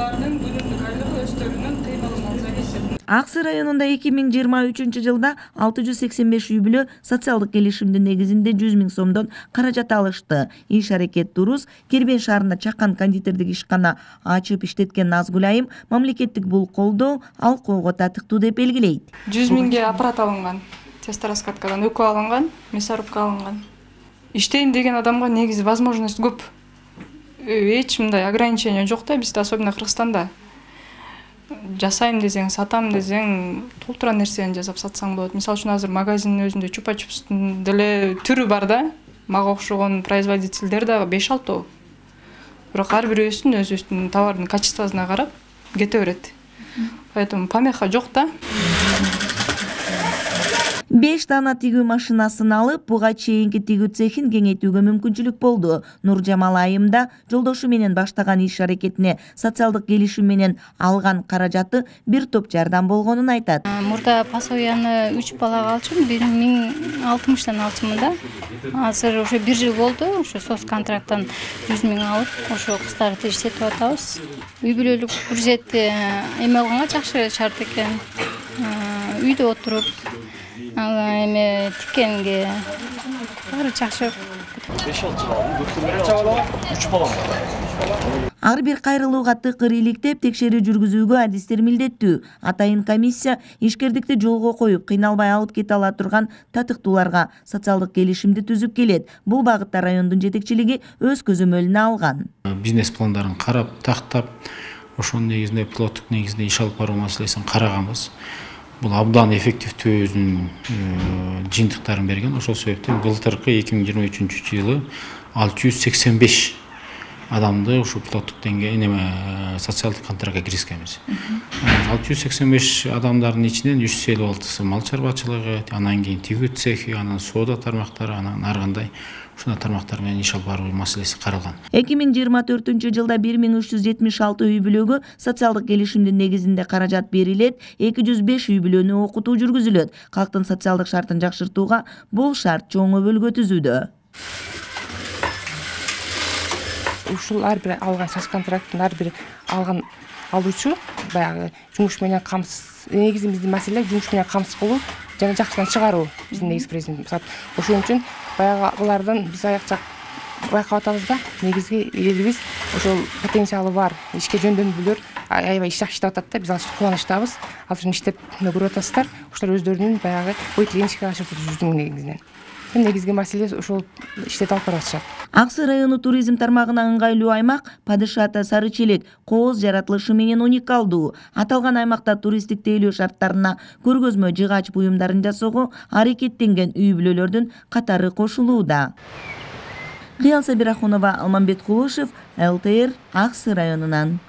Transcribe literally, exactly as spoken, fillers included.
алардын күнүмдүк айлыгы өздөрүнүн кыймылынан зависит. Ак Сый районунда эки миң жыйырма үчүнчү жылда алты жүз сексен беш үй бүлө социалдык келишимдин негизинде жүз миң сомдон каражат алышты. Иш аракет Турус Кербен шаарында чакан кондитердик ишкана ачып иштеткен Назгүл айым мамлекеттик бул колдоо алкоого татыктуу деп белгилейт. жүз миңге аппарат алынган, тестораскаткадан өкө алынган, мясорубка алынган. Иштейм деген адамга негизи возможность көп. Эч мындай ограничение жок да, бизде особенно Кыргызстанда. Жасайм десең, сатам десең, толтура нерсени жасап сатсаң болот. Мисалы үчүн азыр магазиндин өзүндө чупа-чупстун деле түрү бар да. Мага окшогон производительдер да беш алтоо. Бирок ар бирөөсүн өзүнүн товардын качествосуна карап кете берет. Поэтому помеха жок да. беш дана тигүү машинасын алып, буга чейинки тигүү цехин кеңейтүүгө мүмкүнчүлүк болду. Нуржамал айым да жолдошу менен баштаган иш аракетине социалдык келишим менен алган каражаты бир топ жардам болгонун айтат. Мурда пособияны үч балага алчумун, бир миң алтымыштан алчумун да. Азыр ошо бир жыл болду, ошо соц контракттан жүз миң алып, ошо кыздарды тижсетип атабыз. Үй бүлөлүк бюджет эме алганга жакшы шарт экен. Үйдө отуруп эме тиккенге баары жакшы. беш алты бала, үч бала. Ар бир кайрылууга тыкыр иликтеп, текшерүү жүргүзүүгө адистер милдеттүү. Атайын комиссия ишкердикти жолго коюп, кыйналбай алып кете ала турган татыктууларга социалдык келишимди түзүп келет. Бул багытта райондун жетекчилиги өз көзөмөлүнө алган. Бизнес пландарын карап, тактап, ошонун негизинде пилоттук негизинде иш алып баруу маселесин караганбыз. Бул абдан эффективдүү өзүнүн жыйынтыктарын берген. Ошол себептен былтыркы эки миң жыйырма үчүнчү жылы алты жүз сексен беш адамды ушу пилоттук деңгээлде социалдык контрактка киргизгенбиз. алты жүз сексен беш адамдардын ичинен үч жүз элүү алтысы мал чарбачылыгы, анан кийин тигүү цехи, анан соода тармактары, анан ар кандай ушундай тармактар менен иш алып баруу маселеси каралган. эки миң жыйырма төртүнчү жылда бир миң үч жүз жетимиш алты үй бүлөгө социалдык келишимдин негизинде каражат берилет, эки жүз беш үй бүлөнү окутуу жүргүзүлөт. Калктын социалдык шартын жакшыртууга бул шарт чоң өбөлгө түзүүдө. Ушул ар бир алган соц контракттын ар бир алган алуучу баягы жумуш менен камсыз, негизи биздин маселе жумуш менен камсыз кылуу жана жакшыдан чыгаруу биздин негизги президент. Ошон үчүн баягы булардан биз аякча байкап атабыз да, негизги элибиз ошол потенциалы бар ишке жөндөмдүүлөр аябай иш жакшы иштеп атат да, биз ал үчүн кубанычтабыз. Азыр иштеп көрүп атасыздар, ошолор өздөрүнүн баягы ой тилегин ишке ашырып жүрдүң негизинен. Негизги маселе ошол иштеп алып баратышат. Ак Сый району туризм тармагына ыңгайлуу аймак Падышата Сары Челек кооз жаратылышы менен уникалдуу. Аталган аймакта туристтик тейлөө шарттарына көргөзмө жыгач буюмдарын жасоого аракеттенген үй бүлөлөрдүн катары кошулууда. Кыял Сабирахунова, Алмамбет Кулушев, эл тэ эр, Ак Сый районунан.